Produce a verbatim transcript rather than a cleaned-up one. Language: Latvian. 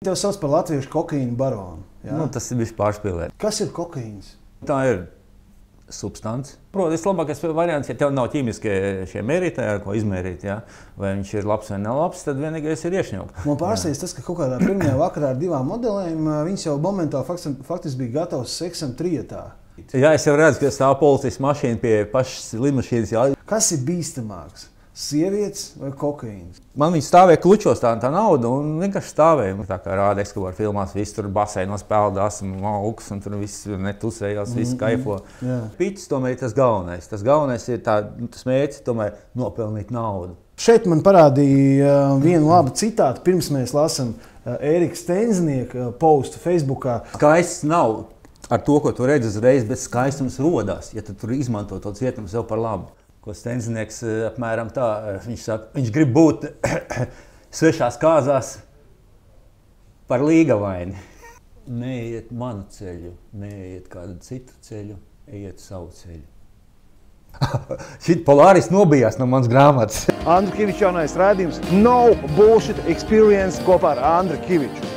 Tev sauc par latviešu kokaīnu baronu. Jā? Nu, tas ir bijis pārspīlēt. Kas ir kokaīns? Tā ir substance. Protams, labākais variants, ja tev nav ķīmiskie šie mērītāji, ar ko izmērīt, ja? Vai viņš ir labs vai nav labs, tad vienīgais ir iešņaukt. Man pārsteidz tas, ka kaut kādā pirmajā vakarā ar divām modelēm viņas jau momentāli faktiski bija gatavs seksam trietā. Jā, es jau redzu, ka stāv policijas mašīna pie pašas lidmašīnas. Jā. Kas ir bīstamāks? Sievietes vai kokaīns? Man viņi stāvēja klučos tā, tā nauda un vienkārši stāvēja. Tā kā rāda Escobar filmās, visi tur baseinos peldās un augs un tur viss netusējās, mm, viss kaifo. Mm, Piķis tomēr ir tas galvenais. Tas galvenais ir tā, tas mērķis tomēr nopelnīt naudu. Šeit man parādīja vienu labu citātu, pirms mēs lasam Ērika Stenznieka postu Facebookā. Skaists nav ar to, ko tu redzi uzreiz, bet skaistums rodās, ja tu tur izmanto to cietumu sev par labu. Ko Stenznieks apmēram tā, viņš saka, viņš grib būt svešās kāzās par līgavaini. Neiet manu ceļu, neiet kādu citu ceļu, ejiet savu ceļu. Šit Polāris nobijās no manas grāmatas. Andru Kiviču jaunais rādījums No Bullshit Experience kopā ar Andru Kiviču.